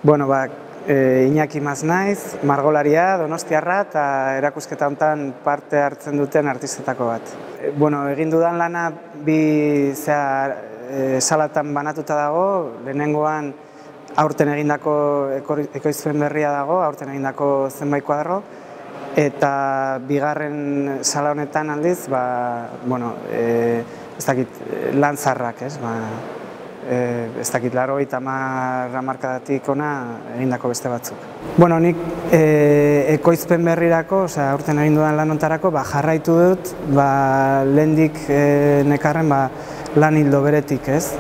Bueno, Iñaki Mas naiz, margolaria, donostiarra eta erakusketa honetan parte hartzen duten artistetako bat. Egin dudan lana bi salatan banatuta dago, lehenengoan aurten egindako ekoizpen berria dago, aurten egindako zenbait kuadro, eta bigarren sala honetan aldiz, ez dakit, lan zaharrak, ez dakit, 80 hamarkadatik ona egindako beste batzuk. Nik ekoizpen berrirako, aurten egin dudan lan honetarako, jarraitu dut, lehendik nekarren lan hildo beretik, ez?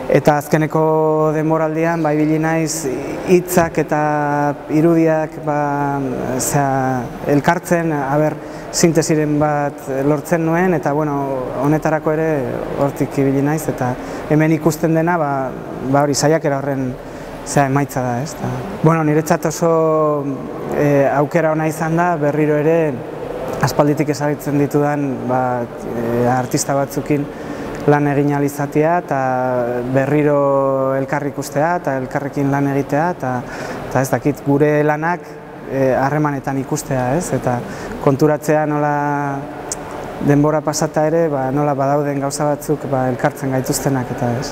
Eta azkeneko denboraldian, ibili naiz hitzak eta irudiak elkartzen, sintesiren bat lortzen nuen, eta honetarako ere hortik ibili naiz, eta hemen ikusten dena hori saiakera horren emaitza da. Niretzat oso aukera ona izan da, berriro ere aspalditik ezagutzen ditudan artista batzukin lan egin ahal izatea, eta berriro elkarri ikustea, eta elkarrekin lan egitea, eta ez dakit, gure lanak harremanetan ikustea, eta konturatzea nola denbora pasata ere, nola badauden gauza batzuk elkartzen gaituztenak, eta ez.